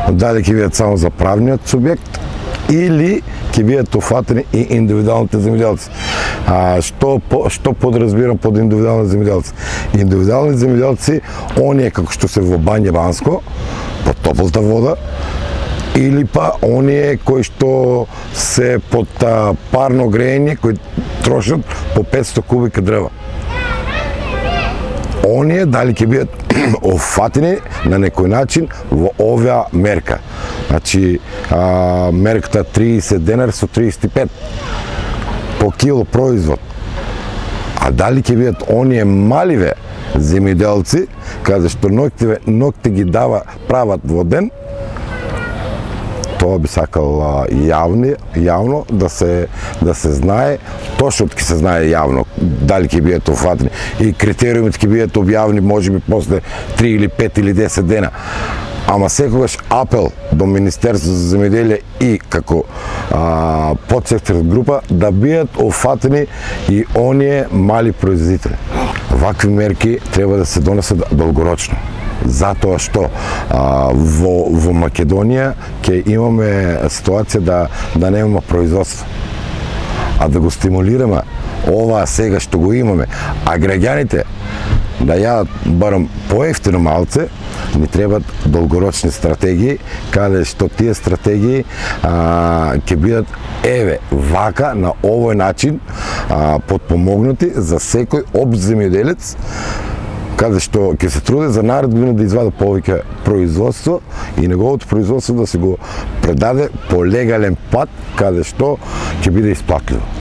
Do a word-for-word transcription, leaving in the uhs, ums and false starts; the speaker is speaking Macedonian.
дали ќе бидат само за правниот субјект или ќе бидат офатени и индивидуалните земјоделци. А што што подразбирам под индивидуални земјоделци? Индивидуални земјоделци, оние како што се во Бања Банско, под топлата вода, или па оние кои што се под парно грејење, кои трошат по петсто кубика дрва. Оние дали ќе бидат офатени на некој начин во оваа мерка. Значи, а, мерката триесет денар со триесет и пет по кило производ. А дали ќе бидат оние маливе земјоделци, каде што ноќте, ноќте ги дава прават во ден, тоа би сакал јавни, јавно да се да се знае, точно ќе се знае јавно дали ќе бидат офатени и критериумите ќе бидат објавени можеби после три или пет или десет дена. Ама секогаш апел до Министерството за земјоделие и како а, подсектор група да бидат офатени и оние мали производители. Вакви мерки треба да се донесат долгорочно. Затоа што а, во, во Македонија ќе имаме ситуација да, да немаме производство. А да го стимулираме ова сега што го имаме, а граѓаните да јадат барем поевтино малце, ни требат долгорочни стратегии, каде што тие стратегии а, ќе бидат еве вака на овој начин а, подпомогнати за секој општ земјоделец, каде што ќе се труди за наредна година да извади повеќе производство и неговото производство да се го предаде по легален пат, каде што ќе биде исплатливо.